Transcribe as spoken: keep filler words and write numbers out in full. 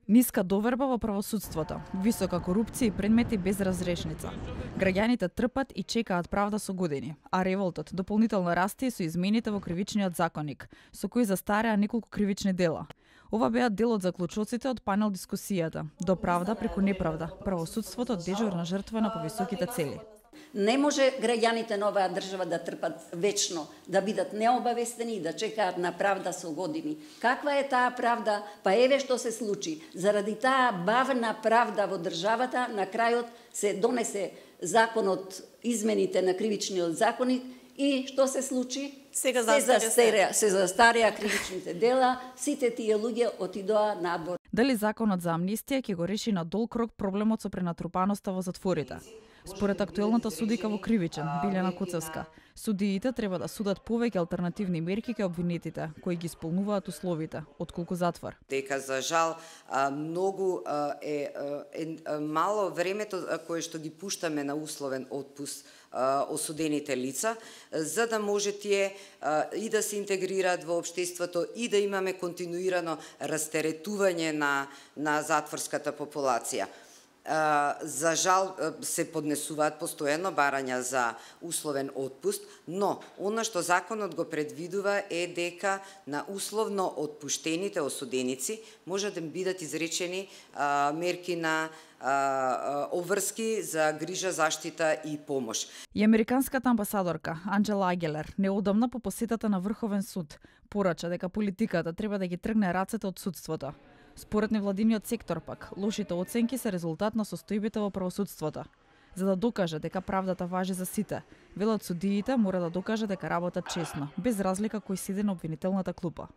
Ниска доверба во правосудството, висока корупција и предмети без разрешница. Граѓаните трпат и чекаат правда со години, а револтот дополнително расте и со измените во кривичниот законник, со кои застареа неколку кривични дела. Ова беа дел од заклучоците од панел дискусијата "До правда преку неправда. Правосудството дежурна жртва на повисоките цели". Не може граѓаните на оваа држава да трпат вечно, да бидат необавестени и да чекаат на правда со години. Каква е таа правда? Па еве што се случи. Заради таа бавна правда во државата, на крајот се донесе законот, измените на кривичниот законник и што се случи? Сега се застареа, се застареа кривичните дела, сите тие луѓе отидоа на абор. Дали законот за амнистија ќе го реши на долг рок проблемот со пренатрупаноста во затворите? Според актуелната судика во Кривичен, Билјана Куцевска, судиите треба да судат повеќе алтернативни мерки кај обвинетите, кои ги исполнуваат условите, отколку затвор. Дека за жал многу е, е мало времето кое што ги пуштаме на условен отпуст осудените лица, за да може тие и да се интегрираат во општеството и да имаме континуирано растеретување на, на затворската популација. За жал се поднесуваат постојано барања за условен отпуст, но она што законот го предвидува е дека на условно отпуштените осуденици може да бидат изречени мерки на обврски за грижа, заштита и помош. И американската амбасадорка Анџела Агелер неодамна по посетата на Врховен суд порача дека политиката треба да ги тргне рацете од судството. Според невладиниот сектор пак, лошите оценки се резултат на состојбите во правосудството. За да докаже дека правдата важи за сите, велат судиите мора да докаже дека работат честно, без разлика кој седи на обвинителната клупа.